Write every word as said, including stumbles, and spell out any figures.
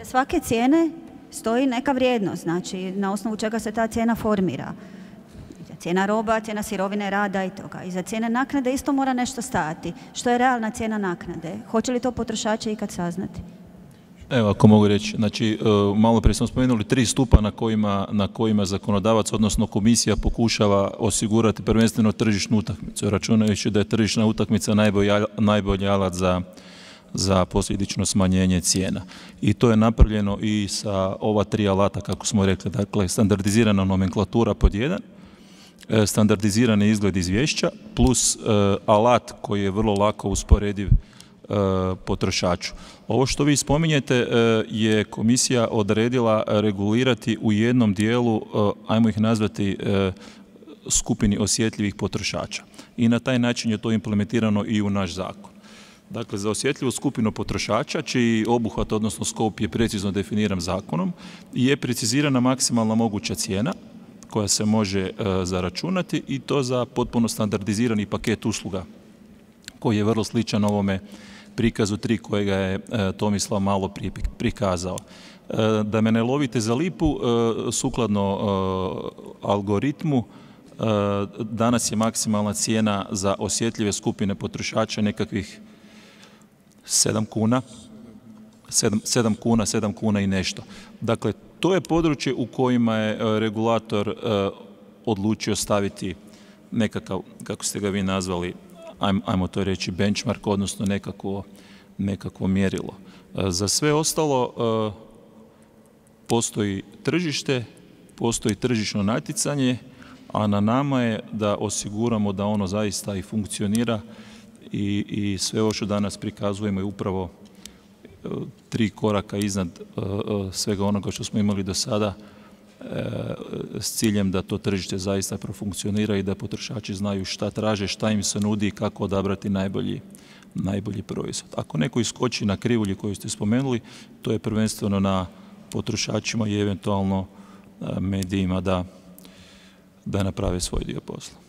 svake cijene stoji neka vrijednost, znači na osnovu čega se ta cijena formira. Cijena roba, cijena sirovine, rada i toga. I za cijene naknade isto mora nešto stajati. Što je realna cijena naknade? Hoće li to potrošači ikad saznati? Evo, ako mogu reći, znači, malo prije smo spomenuli tri stupa na kojima, na kojima zakonodavac, odnosno komisija, pokušava osigurati prvenstveno tržišnu utakmicu, računajući da je tržišna utakmica najbolji, najbolji alat za, za posljedično smanjenje cijena. I to je napravljeno i sa ova tri alata, kako smo rekli, dakle, standardizirana nomenklatura pod jedan, standardizirani izgled izvješća, plus uh, alat koji je vrlo lako usporediv uh, potrošaču. Ovo što vi spominjete uh, je komisija odredila regulirati u jednom dijelu, uh, ajmo ih nazvati, uh, skupini osjetljivih potrošača. I na taj način je to implementirano i u naš zakon. Dakle, za osjetljivu skupinu potrošača, čiji obuhvat, odnosno skop, je precizno definiran zakonom, je precizirana maksimalna moguća cijena koja se može e, zaračunati, i to za potpuno standardizirani paket usluga koji je vrlo sličan ovome prikazu tri kojega je e, Tomislav malo prije prikazao. E, da me ne lovite za lipu, e, sukladno e, algoritmu, e, danas je maksimalna cijena za osjetljive skupine potrošača nekakvih sedam kuna, sedam kuna, sedam kuna i nešto. Dakle, to je područje u kojima je regulator odlučio staviti nekakav, kako ste ga vi nazvali, ajmo to reći, benchmark, odnosno nekakvo, nekakvo mjerilo. Za sve ostalo postoji tržište, postoji tržišno natjecanje, a na nama je da osiguramo da ono zaista i funkcionira, i, i sve ovo što danas prikazujemo je upravo tri koraka iznad uh, svega onoga što smo imali do sada, uh, s ciljem da to tržište zaista profunkcionira i da potrošači znaju šta traže, šta im se nudi i kako odabrati najbolji, najbolji proizvod. Ako neko iskoči na krivulji koju ste spomenuli, to je prvenstveno na potrošačima i eventualno uh, medijima da, da naprave svoj dio posla.